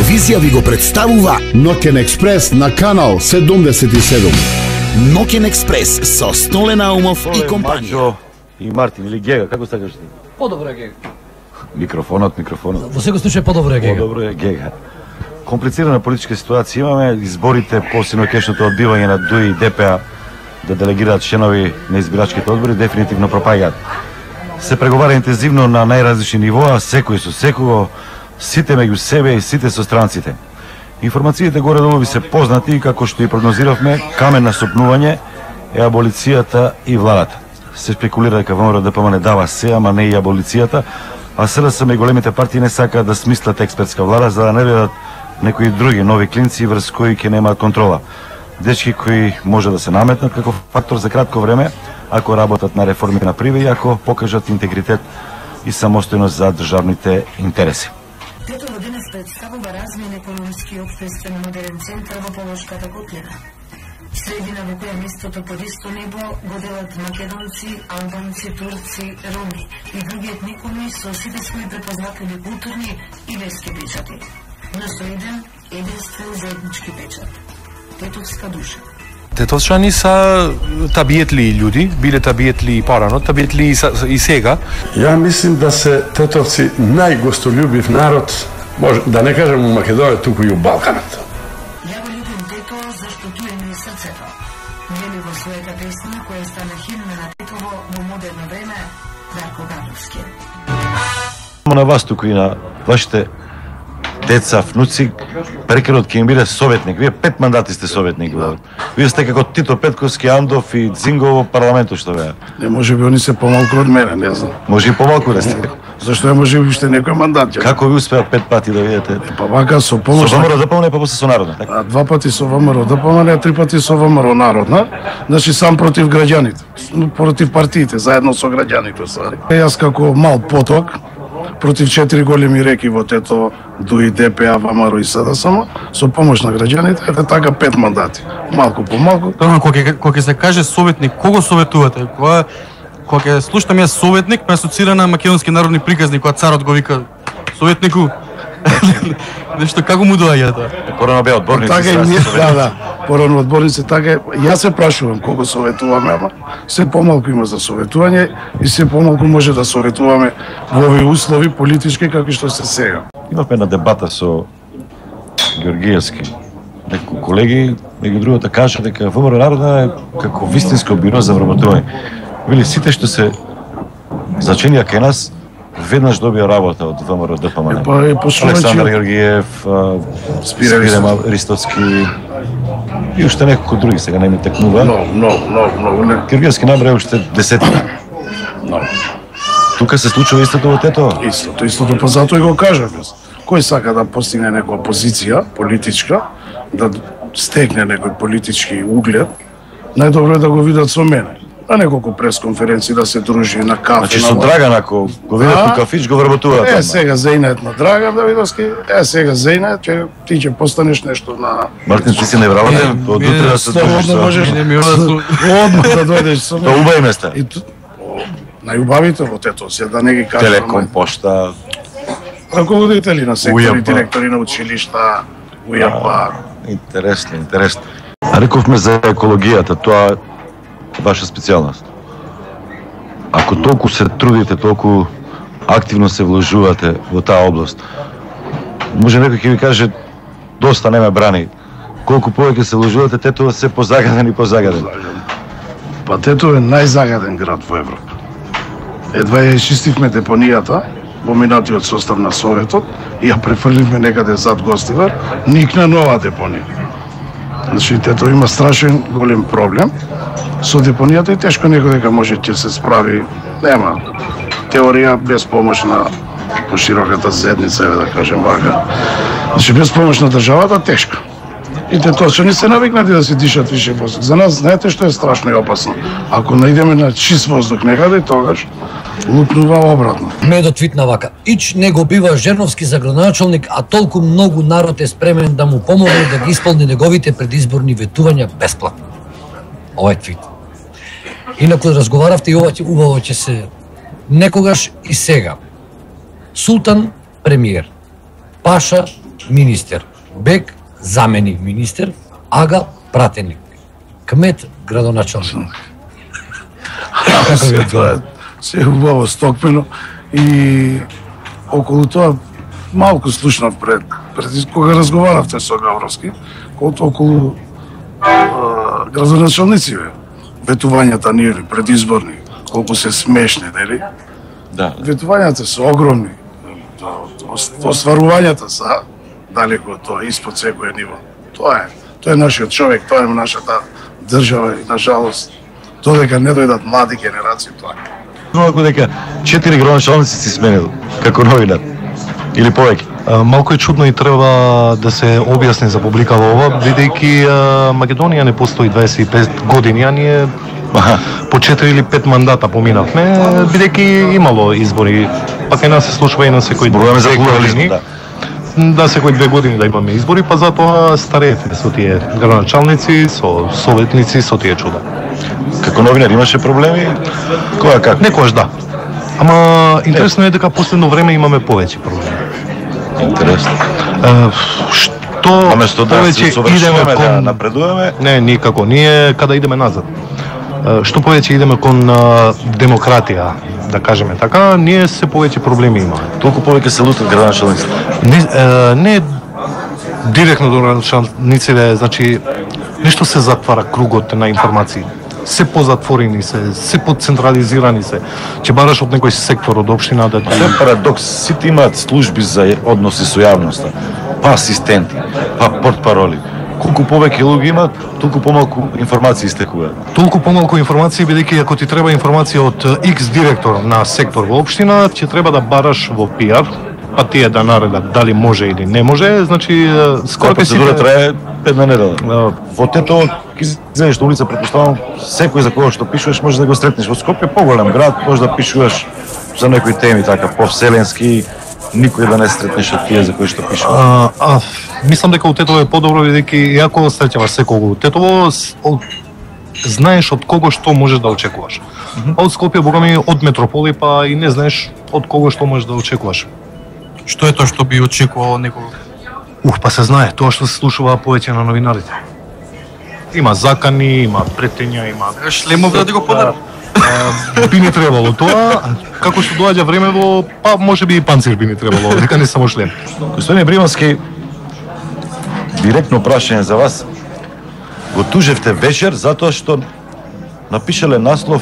телевизија ви го представува Ноќен експрес на канал 77. Ноќен експрес со Столе Наумов и компанија. Маджо и Мартин или Гега, како сакаш ти? Подобро е Гега. Микрофонот. Во секој случај подобро е Гега. Подобро е Гега. Комплицирана политичка ситуација имаме, изборите по синокешното одбивање на ДУИ и ДПА да делегираат членови на избирачките одбори дефинитивно пропаѓаат. Се преговара интензивно на најразлични нивоа, секој со секого, сите меѓу себе и сите со странците. Информациите горе-долу ви се познати и како што и прогнозиравме, камен на сопнување е аболицијата и владата. Се спекулира дека ВМРО ДПМН дава се, ама не и аболицијата, а СДСМ и големите партии не сакаат да смислат експертска влада за да не бидат некои други нови клинци врз кои ќе немаат контрола. Дечки кои може да се наметнат како фактор за кратко време, ако работат на реформи на приви и ако покажат интегритет и самостојност за државните интереси. Тетово денес представува размен економски и општествен модерен центар во Полошката котлина. Средина во која местото под исто небо го делат македонци, албанци, турци, роми и други етникуми со сите свои препознатливи културни и верски печати. Но со единствен заеднички печат. Тетовска душа. Тетовчани са табиетли луѓи, биле табиетли и порано, табиетли и сега. Ја мислим да се тетовци најгостолюбив народ, може да не кажем у Македонија, туку и у Балканот. Ја го љубим Тето зашто туе ми е срцето. Вели во својата песна која стана химна на Тетово во модерно време, Дарко Габровски. На вас туку и на вашите деца, внуци, прекерот ќе им биде советник. Вие 5 мандати сте советник. Вие сте како Тито Петковски, Андов и Дзинго во парламентот што беа. Не може би они се помалку од мене, не знам. Може и помалку да сте. Зашто ја може би уште некој мандат. Како ви успеа 5 пати да видите? Па вака со помош. Со ВМРО ДПМН па после со Народна, така? 2 пати со ВМРО ДПМН, 3 пати со ВМРО Народна. Значи сам против граѓаните, против партиите, заедно со граѓаните. Јас како мал поток против 4 големи реки во Тето, ДУИ, ДПА, ВМРО и СДСМ, со помош на граѓаните, ете така 5 мандати. Малку по малку. Кога ќе се каже советник, кого советувате? Кога ќе слушам јас советник, ме асоцира на македонски народни приказни, кога царот го вика советнику. Нешто како му доаѓа тоа? Порано беа одборници. Така и ние, да, порано одборници, така јас се прашувам кого советуваме, ама се помалку има за советување и се помалку може да советуваме во овие услови политички како што се сега. Имавме една дебата со Георгиевски. Некои колеги, меѓу другото, кажа дека ВМРО Народна е како вистинско биро за вработување. Вели сите што се заченија кај нас веднаш добија работа од ВМРО ДПМН. Александар Георгиев, Спире Ристовски и уште неколку други, сега не ми текнува. Много. Георгиевски набраја уште десетина. Тука се случува истото во Тето? Истото, па затоа и го кажав. Кој сака да постигне некоја позиција политичка, да стегне некој политички углед, најдобро е да го видат со мене. На неколку пресконференции да се дружи на кафе. Значи со Драган, ако го видат у кафич, го вработуваат. Сега Зејнет на Драган Давидовски, сега Зејнет, ти ќе постанеш нешто на... Мартин, ти си не вработен, од утре да се дружиш со... Одмah да дојдеш со мене. Убави места. Најубавите во Тето, се да не ги кажам. Телеком, пошта... Раководители на сектори, директори на училишта, УЈАП. Интересно. А рековме за екологијата, тоа ваша специјалност. Ако толку се трудите, толку активно се вложувате во таа област, може некој ќе ви каже доста не ме брани. Колку повеќе се вложувате, Тето се позагаден и позагаден. Па Тето е најзагаден град во Европа. Едва ја изчистивме депонијата во минатиот состав на Советот и ја префрливме некаде зад Гостивар, никна нова депонија. Значи, Тето има страшен голем проблем со депонијата и тешко некој дека може ќе се справи. Нема теорија без помош на пошироката зедница, да кажем вака. Значи, без помош на државата тешко. И Тетовчани се навикнати да се дишат више воздух. За нас, знаете што е страшно и опасно? Ако најдеме на чист воздух некаде, тогаш лупнува обратно. Медот твитна вака: Ич не го бива Жерновски за градоначалник, а толку многу народ е спремен да му помогне да ги исполни неговите предизборни ветувања бесплатно. Овај твит. Инаку разговаравте и ова убаво ќе се некогаш и сега. Султан премиер, Паша министер, Бек заменик министер, Ага пратеник, кмет градоначалник. Тоа е се убаво стокмено и околу тоа малку слушнав пред кога разговаравте со Гавровски, околу градоначалници, ветувањата нивни предизборни, колку се смешни, нели? Да. Ветувањата се огромни. Остварувањата се далеко тоа испод секој ниво. Тоа е нашиот човек, тоа е нашата држава и на жалост додека не дојдат млади генерации тоа. Малку дека 4 градоначалници си сменил како новинар или повеќе. Малку е чудно и треба да се објасни за публикава ова, бидејќи Македонија не постои 25 години, а ние по 4 или 5 мандата поминавме, бидејќи имало избори, пак и нас се случува и на секој 2 години. Да, секој 2 години да имаме избори, па затоа стареете со тие градоначалници, со советници, со тие чуда. Како новинар имаше проблеми? Која како? Некојаш да. Ама интересно е дека последно време имаме повеќе проблеми. Интересно. Што Наместо да се совршуваме, да напредуваме? Не, никако. Ние када идеме назад. Што повеќе идеме кон демократија, да кажеме така, ние се повеќе проблеми имаме. Толку повеќе се лутат градоначалниците. Не директно до градоначалниците, значи нешто се затвара кругот на информации. Се позатворени се поцентрализирани се. Ќе бараш од некој сектор од општина да Тоа е парадокс, сите имаат служби за односи со јавноста, па асистенти, па портпароли. Колку повеќе луѓе имаат, толку помалку информации истекуваат. Толку помалку информации, бидејќи ако ти треба информација од X директор на сектор во општина, ќе треба да бараш во PR, па тие да наредат дали може или не може, значи скоро ќе процедура трае 5 недела. Во Тетово ќе излезеш на улица, претпоставам, секој за кого што пишуваш може да го сретнеш. Во Скопје поголем град, може да пишуваш за некои теми така повселенски, никој да не сретнеш од тие за кои што пишува. Мислам дека у Тетово е подобро, бидејќи иако среќаваш секого у Тетово, знаеш од кого што можеш да очекуваш. А од Скопје, богами, од метрополи, па и не знаеш од кого што можеш да очекуваш. Што е тоа што би очекувало некого? Па се знае, тоа што се слушува повеќе на новинарите. Има закани, има претења, има... Шлемов да ти го подарам? Би не требало тоа, како што доаѓа времево, па може би и панцир би не требало, дека не само шлем. Господине Бримански, директно прашање за вас. Го тужевте вечер затоа што напишале наслов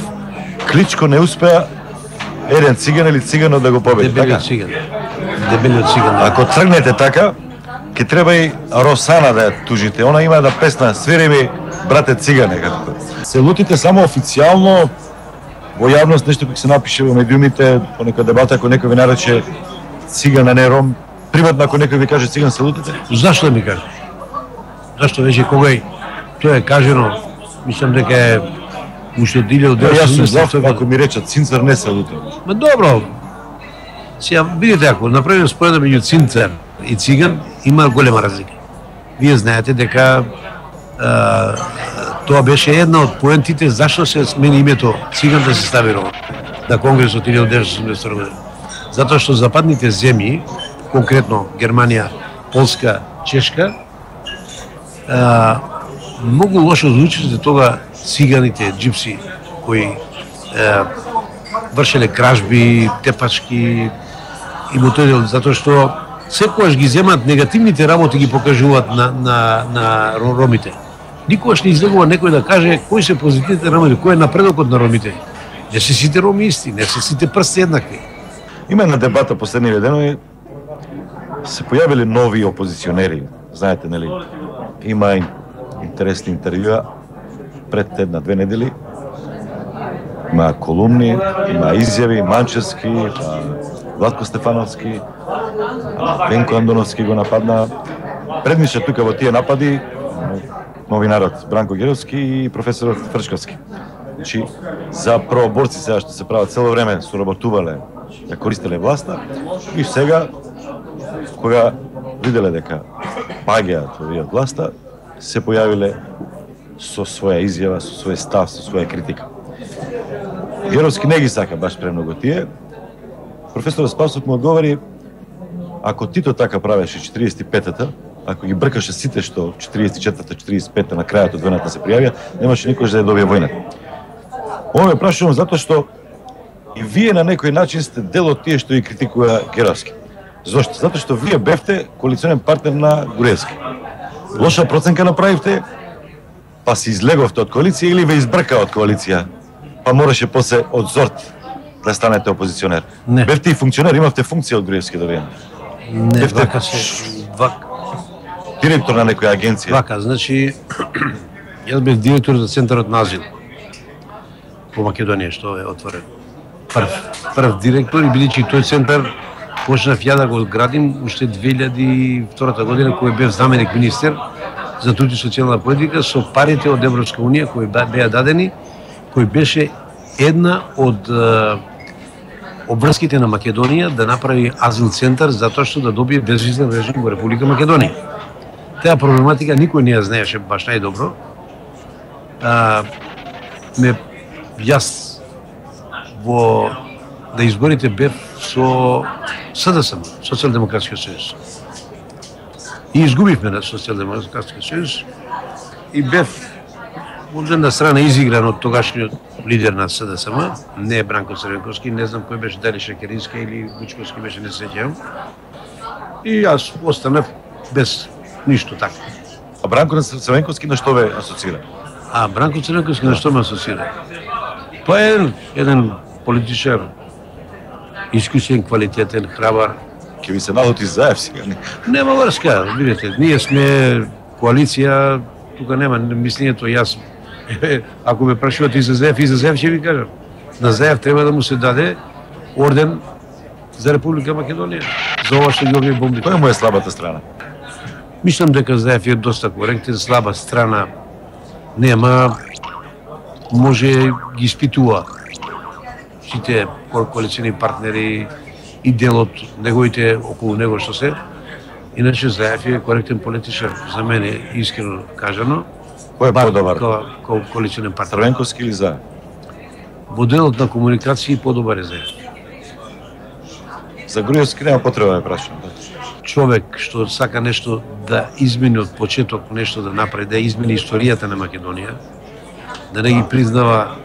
Кличко не успеа еден циган или циганот да го победи. Дебелиот циган. Дебелиот циган. Ако тргнете така, ќе треба и Росана да ја тужите. Она има да песна "Свири ми, брате цигане", како. Се лутите само официјално во јавност, нешто кој се напише во медиумите, по нека дебата, ако некој ви нарече циган, а не ром, приватно ако некој ви каже циган, се лутите? Зашто ми каже? Зашто веќе кога тоа е кажено, мислам дека е уште диле од Јас сум за, ако ми речат цинцар, не се лутим. Ма добро. Сега видите, ако направиме споредба меѓу цинцар и циган, има голема разлика. Вие знаете дека тоа беше една од поентите зашто се смени името циган да се стави ром на Конгресот 1982 година. Затоа што западните земји, конкретно Германија, Полска, Чешка, многу лошо звучи тога циганите, джипси, кои вршеле кражби, тепачки и мотори, затоа што секогаш ги земат негативните работи, ги покажуваат на ромите. Никогаш не излегува некој да каже кои се позитивните работи, кој е напредокот на ромите. Не се сите роми исти, не се сите прсти еднакви. Има една дебата последниве денови, се појавиле нови опозиционери, знаете, нели? Има интересни интервјуа пред една-две недели. Има колумни, има изјави, Манчевски, Владко Стефановски, Венко Андоновски го нападна. Предмише тука во тие напади новинарот Бранко Геровски и професорот Фрчковски. Значи, за правоборци сега што се прават цело време соработувале да користеле власта и сега, кога виделе дека паѓаат овие од власта, се појавиле со своја изјава, со свој став, со своја критика. Геровски не ги сака баш премногу тие. Професорот Спасов му одговори: ако Тито така правеше 45-та, ако ги бркаше сите што 44-та, 45-та на крајот од војната се пријавија, немаше никош да ја добие војната. Ова ме прашувам затоа што и вие на некој начин сте дел од тие што ги критикува Геровски. Зошто? Затоа што вие бевте коалиционен партнер на Груевски. Лоша проценка направивте, па се излеговте од коалиција или ве избрка од коалиција, па мораше после од Зорт да станете опозиционер. Не. Бевте и функционер, имавте функција од Груевски до време. Не, Бевте вака се директор на некоја агенција. Вака, значи јас бев директор за центарот на азил по Македонија што е отворен. Прв директор и бидејќи тој центар почнав ја да го градим уште 2002 година кој бев заменик министер за труд и социјална политика со парите од Европска унија кои беа дадени, кој беше една од обврските на Македонија да направи азил центар затоа што да добие безвизен режим во Република Македонија. Таа проблематика никој не ја знаеше баш најдобро. Јас во на изборите бев со СДСМ, Социјалдемократскиот сојуз. И изгубивме на Социјалдемократскиот сојуз и бев од една страна изигран од тогашниот лидер на СДСМ, не Бранко Црвенковски, не знам кој беше, дали Шекерински или Вучковски беше, не се сеќавам. И јас останав без ништо така. А Бранко Црвенковски на што ве асоцира? Бранко Црвенковски на што ме асоцира? Тоа е еден политичар, искусен, квалитетен, храбар. Ке ви се налути заев сега. Нема врска, видите, ние сме коалиција, тука нема мислењето јас. Ако ме прашувате и за Заев ќе ви кажам. На Заев треба да му се даде орден за Република Македонија. За ова што ги овие бомби. Која му е слабата страна? Мислам дека Заев е доста коректен, слаба страна нема, може ги испитува сите коалициони партнери и дел од неговите околу него што се. Иначе Заев е коректен политичар, за мене искрено кажано. Кој е подобар? Коалиционен партнер. Црвенковски или Заев? Во делот на комуникација подобар е Заев. За Груевски нема потреба да прашувам. Човек што сака нешто да измени од почеток, нешто да направи, да измени историјата на Македонија, да не ги признава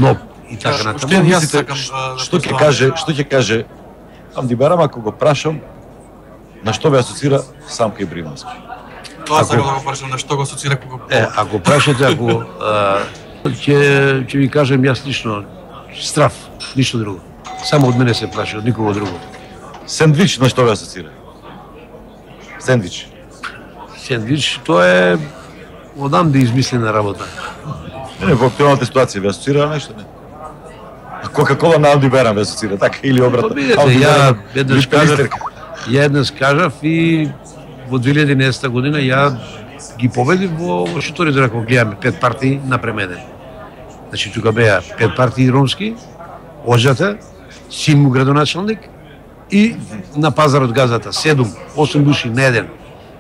НОП и така натаму. Што мислите, што ќе каже Амди Барам ако го прашам на што ве асоцира Самка Ибримовски? Тоа сакам да го прашам на што го асоцира кога. Ако прашате, ако ќе ви кажем јас лично страф, ништо друго. Само од мене се плаши, од никого друго. Сендвич на што ве асоцира? Сендвич. Сендвич, тоа е одамде измислена работа. Не, во актуелната ситуација ве асоцира нешто, не? Кока-кола на Амди Барам ве асоцира, така или обратно? Видете, ја еднаш кажав и во 2011 година ја ги победив во шуторите, ако гледаме 5 партии напременен. Значи тука беа 5 партии ромски, Оджата, син му градоначалник и на пазарот газата 7-8 души на еден.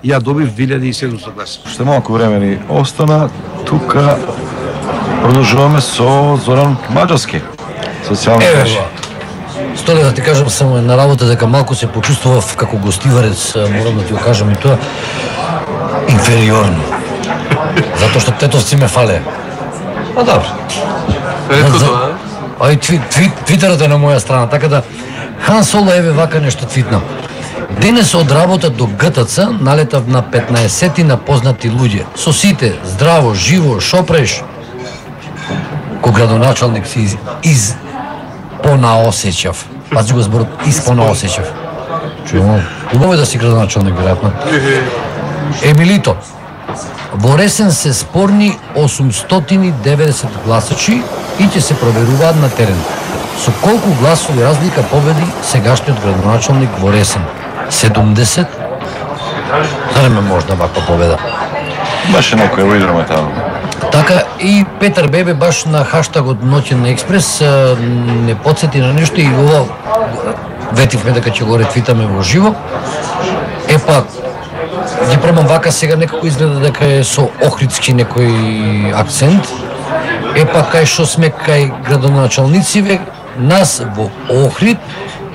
Ја добив 2700 гласа. Уште малку време ни остана. Тука продолжуваме со Зоран Маџарски. Социјални мрежи. Столе да ти кажам само на работа дека малку се почувствував како гостиварец, морам да ти го кажам и тоа, инфериорно. Затоа што тетовци ме фале. А добро. Ретко тоа, Твитерот е на моја страна, така да Хан Соло еве вака нешто твитнам. Денес од работа до ГТЦ налетав на 15 на познати луѓе. Со сите, здраво, живо, шопреш. Ко градоначалник си понаосеќав. Пази го зборот, испонаосеќав. Чујам, убаво е да си градоначалник, веројатно. Емилито, во Ресен се спорни 890 гласачи и ќе се проверуваат на терен. Со колку гласови разлика победи сегашниот градоначалник во Ресен? 70? Зарем можда ваква победа? Баше некој во играме таму. Така и Петар Бебе баш на хаштагот Ноќен експрес не подсети на нешто и ова ветивме дека ќе го ретвитаме во живо. Епа, ги пробам вака сега некако изгледа дека е со охридски некој акцент. Епа кај што сме кај градоначалнициве, нас во Охрид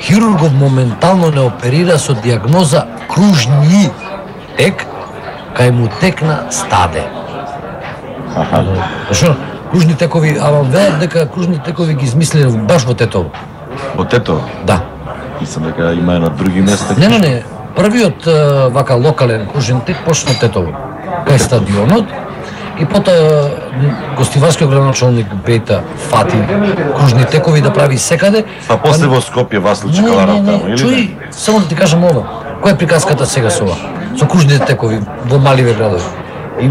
хирургов моментално не оперира со диагноза кружни тек, кај му текна стаде. Зашо? Кружни текови, ама велат дека кружни текови ги измислиле баш во Тетово. Во Тетово? Да. Мислам дека има на други места. Не. Првиот вака локален кружен тек почна Тетово, кај стадионот, и потоа гостиварскиот градоначалник Бејта фати кружни текови да прави секаде. Па после во Скопје Васло Чекаларов таму, или? Чуј, само да ти кажам ова. Која е приказката сега со ова? Со кружните текови во маливе градови. И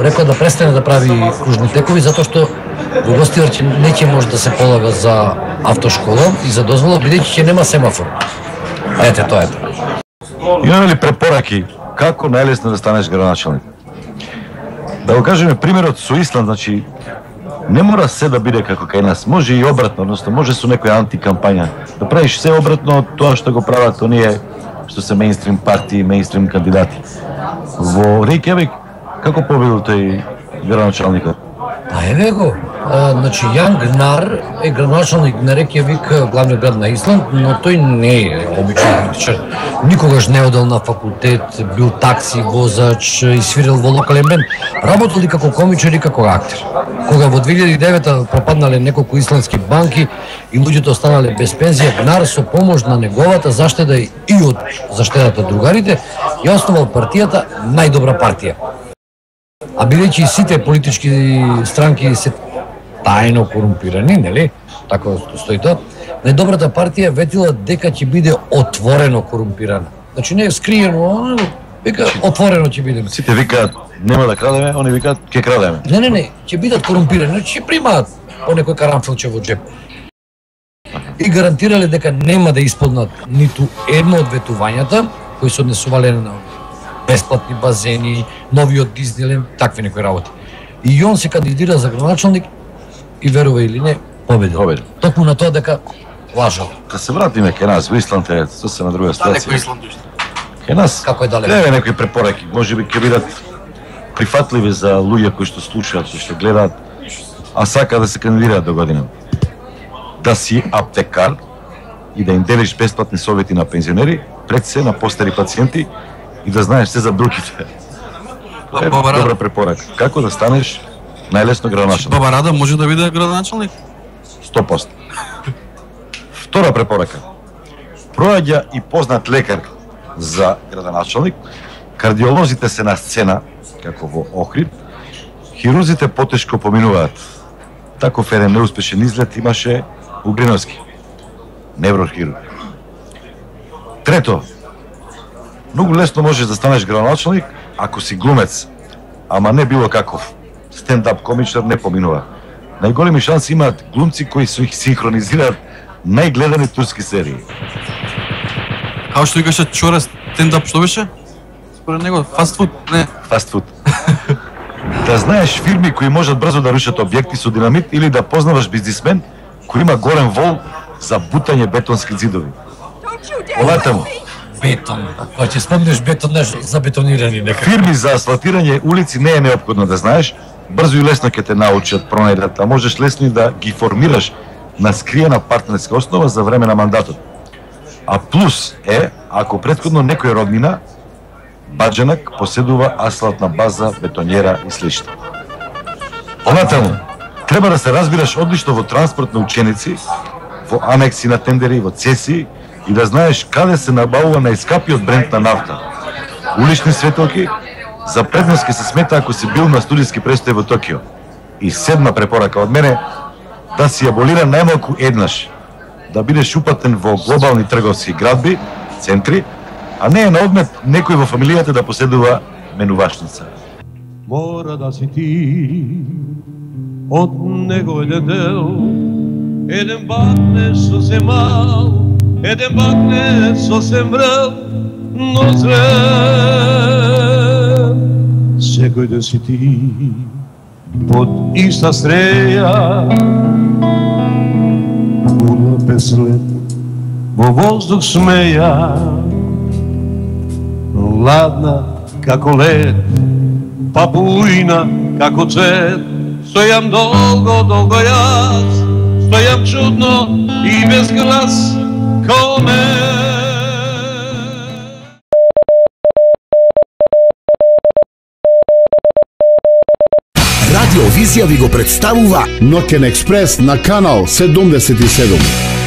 рекоа да престане да прави кружни текови затоа што во Гостивар не ќе може да се полага за автошкола и за дозвола бидејќи ќе нема семафор. Ете тоа е. Имаме ли препораки како најлесно да станеш градоначалник? Да го кажеме примерот со Исланд, значи не мора се да биде како кај нас, може и обратно, односно може со некоја антикампања да правиш се обратно од тоа што го прават оние што се мејнстрим партии, мејнстрим кандидати. Во Рејкјавик како победил тој градоначалникот? Па еве го, значи Јан Гнар е градоначалник на Рејкјавик, главниот град на Исланд, но тој не е обичен политичар. Никогаш не одел на факултет, бил такси возач и свирил во локален бенд. Работел и како комичар и како актер. Кога во 2009 пропаднале неколку исландски банки и луѓето останале без пензија, Гнар со помош на неговата заштеда и од заштедата другарите ја основал партијата Најдобра партија. А бидејќи сите политички странки се тајно корумпирани, нели? Така стои тоа. Најдобрата партија ветила дека ќе биде отворено корумпирана. Значи не е скриено, вика отворено ќе биде. Сите викаат нема да крадеме, они викаат ќе крадеме. Не, ќе бидат корумпирани, значи ќе примаат по некој карамфилче во джеп. И гарантирале дека нема да исполнат ниту едно од ветувањата кои се однесувале на бесплатни базени, новиот Диснилен, такви некои работи. И он се кандидира за градоначалник и верува или не, победил. Токму на тоа дека лажал. Да се вратиме кај нас, во Исланд е сосема друга ситуација. Кај нас, како е далеко? Леве некои препораки, можеби ќе бидат прифатливи за луѓе кои што слушаат, кои што гледаат, а сака да се кандидираат до година. Да си аптекар и да им делиш бесплатни совети на пензионери, пред се на постари пациенти и да знаеш се за бруките. Тоа е добра препорака. Како да станеш најлесно градоначалник? Баба Рада може да биде градоначалник? 100%. Втора препорака. Проаѓа и познат лекар за градоначалник, кардиолозите се на сцена, како во Охрид, хирурзите потешко поминуваат. Таков еден неуспешен излет имаше Угриновски, неврохирург. Трето, многу лесно можеш да станеш градоначалник ако си глумец, ама не било каков. Стендап комичар не поминува. Најголеми шанси имаат глумци кои се синхронизираат најгледани турски серии. Као што викаше Чора, стендап што беше? Според него, фастфуд? Не. Фастфуд. Да знаеш фирми кои можат брзо да рушат објекти со динамит или да познаваш бизнисмен кој има горен вол за бутање бетонски зидови. Понатаму. Бетон. Кога ќе спомнеш бетон, нешто за бетонирани нека. Фирми за асфалтирање улици не е неопходно да знаеш, брзо и лесно ќе те научат, пронајдат, а можеш лесно и да ги формираш на скриена партнерска основа за време на мандатот. А плюс е, ако претходно некој роднина, баџанак поседува асфалтна база, бетонјера и слично. Понатаму, треба да се разбираш одлично во транспорт на ученици, во анекси на тендери, во цеси и да знаеш каде се набавува најскапиот бренд на нафта. Улични светелки, за предност ќе се смета ако си бил на студиски престој во Токио. И седма препорака од мене, да си аболира најмалку еднаш, да бидеш упатен во глобални трговски градби, центри, а не е на одмет некој во фамилијата да поседува менувачница. Мора да си ти од него еден дел, еден бакне сосем мал, еден бакне сосем врел, но зрел. Секој да си ти под иста стреја, кула без лед, во воздух смеја, ладна како лед, папуина како цвет. Стојам долго, долго јас, стојам чудно и без глас, Радиовизија ви го представува Ноќен експрес на канал 77.